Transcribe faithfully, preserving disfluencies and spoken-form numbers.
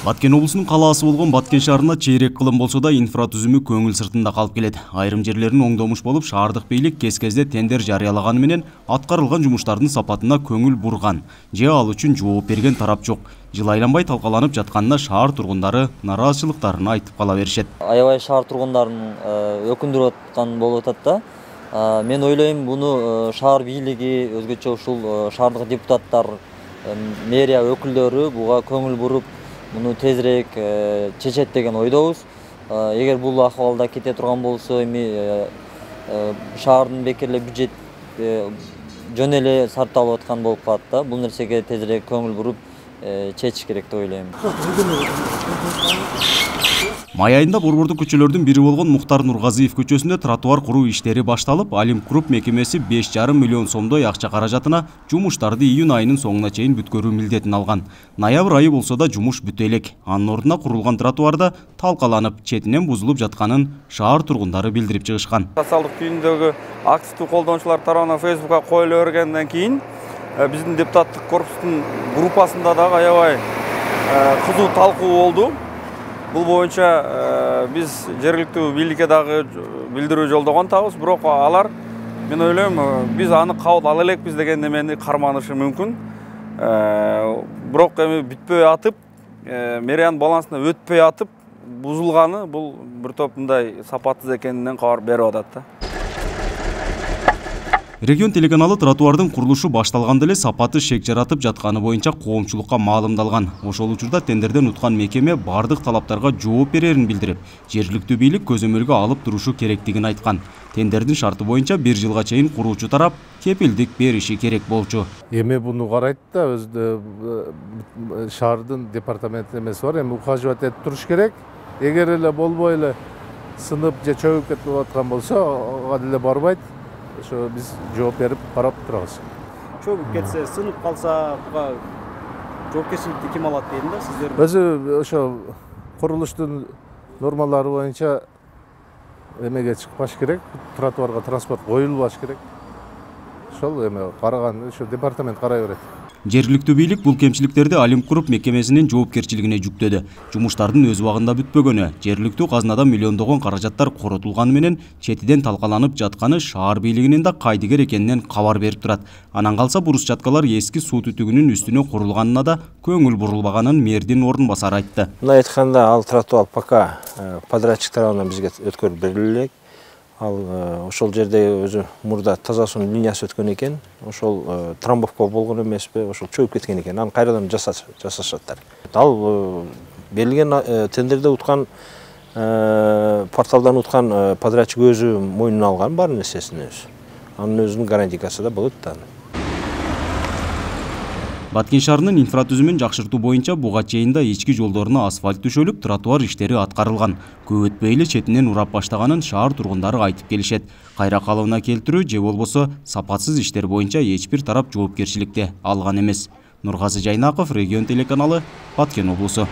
Баткен облусунун калаасы болгон Баткен шаарына чейрек кылым болсо да инфратүзүмү көңүл сыртында калып келет. Айрым жерлерин оңдомуш болуп, шаардык бийлик кез-кезде тендер жарыялаганы менен аткарылган жумуштардын сапатына көңүл бурган же ал үчүн жооп берген тарап жок. Жыл айланбай талкаланып жатканына шаар тургундары нараазычылыктарын айтып кала беришет. Аябай шаар тургундарын өкүндүрүп аткан болуп атат да. Мен ойлойм, буну шаар бийлиги, өзгөчө ушул шаардык депутаттар, мэрия өкүлдөрү буга көңүл буруп, муну тезирээк чечет деген ойдобуз. Эгер бул акыбалда кете турган болсо, эми шаардын бекер бюджет жөн эле сарпталып аткан болуп калат да. Бул нерсеге тезирээк көңүл буруп чечиш керек деп ойлойм. Май айында Борбордук көчөлөрдүн бири болгон Мухтар Нургазиев көчөсүндө тротуар куруу иштери башталып, Алимкруп мекемеси беш жарым миллион сомдой акча каражатына жумуштарды июнь айынын соңуна чейин бүткөрүү милдетин алган. Ноябрь айы болсо да жумуш бүтө элек. Анын ордуна курулган тротуарда талкаланып, четинен бузулуп жатканын шаар тургундары билдирип чыгышкан. Социалдык түйүндөгү активдүү колдонуучулар тарабынан Facebook'ка коюла бергенден кийин биздин депутаттык корпустун группасында дагы аябай кызуу талкуу болду. Бул боюнча биз жергиликтүү бийликке дагы билдирүү жолдогон атабыз, бирок алар, мен ойлойм, биз аны кабыл ала элекпиз деген немени карманышы мүмкүн. Бирок эми бүтпөй атып, мэриянын балансына өтпөй атып, бузулганы бул бир топ мындай сапатсыз экенинен кабар берип атат да. Регион телеканалы тротуардын курулушу башталганда эле сапаты шек жаратып жатканы боюнча коомчулукка маалымдалган. Ошол учурда тендерден уткан мекеме бардык талаптарга жооп берерин билдирип, жергиликтүү бийлик көзөмөлгө алып турушу керектигин айткан. Тендердин шарты боюнча бир жылга чейин куруучу тарап кепилдик бериши керек болчу. Эми буну карайт да, өзү шаардын департамент эмеси бар, эми ухаживать этип туруш керек. Эгер эле болбой эле сынып же чөгүп кетип аткан болсо, ага деле барбайт. Ошо биз жооп берип карап турабыз. Чөгүп кетсе, сынып калса, буга жоопкерчиликти ким алат дейм да, сиздер? Өзү ошо курулуштун нормалары боюнча эмеге чыкпаш керек, тротуарга транспорт коюлбаш керек. Ошол эме караган, ошо департамент карай берет. Жергиликтүү бийлик бул кемчиликтерди Алимкруп мекемесинин жоопкерчилигине жүктөдү. Жумуштардын өз убагында бүтпөгөнү, жергиликтүү казнадан миллиондогон каражаттар коротулганы менен четиден талкаланып жатканы шаар бийлигинин да кайдыгер экенинен кабар берип турат. Анан калса брусчаткалар эски суу түтүгүнүн үстүнө курулганына да көңүл бурулбаганын мэрдин ордун басары айтты. Мына айтканда, ал тротуар пока подрядчик тарабынан бизге өткөрүп бериле элек. Ал ошол жерде өзү мурда таза суунун линиясы өткөн экен, ошол трамбовка болгон эмеспи, ошол чөгүп кеткен экен. Аны кайрадан жасашаттар. Ал берилген тендерде уткан, порталдан уткан подрядчик өзү мойнуна алган бар нерсесин өзү. Анын өзүнүн гарантиясы да болот да. Баткен шаарынын инфратүзүмүн жакшыртуу боюнча буга чейин да ички жолдоруна асфальт төшөлүп, тротуар иштери аткарылган. Көп өтпөй эле четинен урап баштаганын шаар тургундары айтып келишет. Кайра калыбына келтирүү же болбосо сапатсыз иштер боюнча эч бир тарап жоопкерчиликти алган эмес. Нургазы Жайнаков, Регион телеканалы, Баткен облусу.